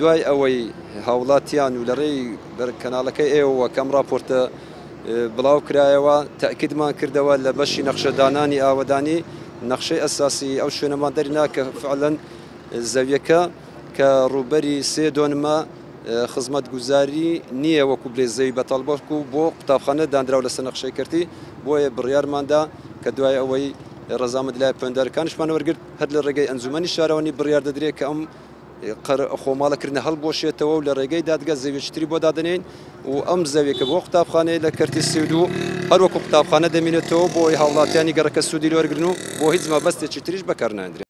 دوای ئەوەی هاوڵاتیان و لە ڕێی کەناڵەکەی ئێوەوە کە ئەم ڕاپۆرتە بڵاو کرایەوە، تەئکیدمان کردەوە لە بەشی نەخشەدانانی ئاوەدانی نەخشەی ئەساسی ئەو شوێنەمان دەرنا کە فعلەن زەویەکە کە ڕووبەری سێ دۆنمە خزمەتگوزاری نییە وەکو بلێ زەوی بەتاڵ بەڵکو بۆ قوتابخانە دانراو لەسەر نەخشەی کەرتی، بۆیە بڕیارماندا کە دوای ئەوەی ڕەزامەندی لایە پەیوەندیدارەکانیشمان وەرگرت هەر لە ڕێگەی ئەنجومەنی شارەوانی بڕیار دەدرێت کە ئەم خۆماڵەکردنە هەڵبوەشێتەوە و لە ڕێگەی دادگا زەویەکی تری بۆ دادەنێین و ئەم زەویەکە بۆ قوتابخانەیە لە کەرتی 32 هەروەکو قوتابخانە دەمینێتەوە بۆ ئەوەی هاوڵاتیانی گەڕەکە سوودی لێ وەرگرن و بۆ هیچ مەبەستێکی تریش بەکارناهێندرێت.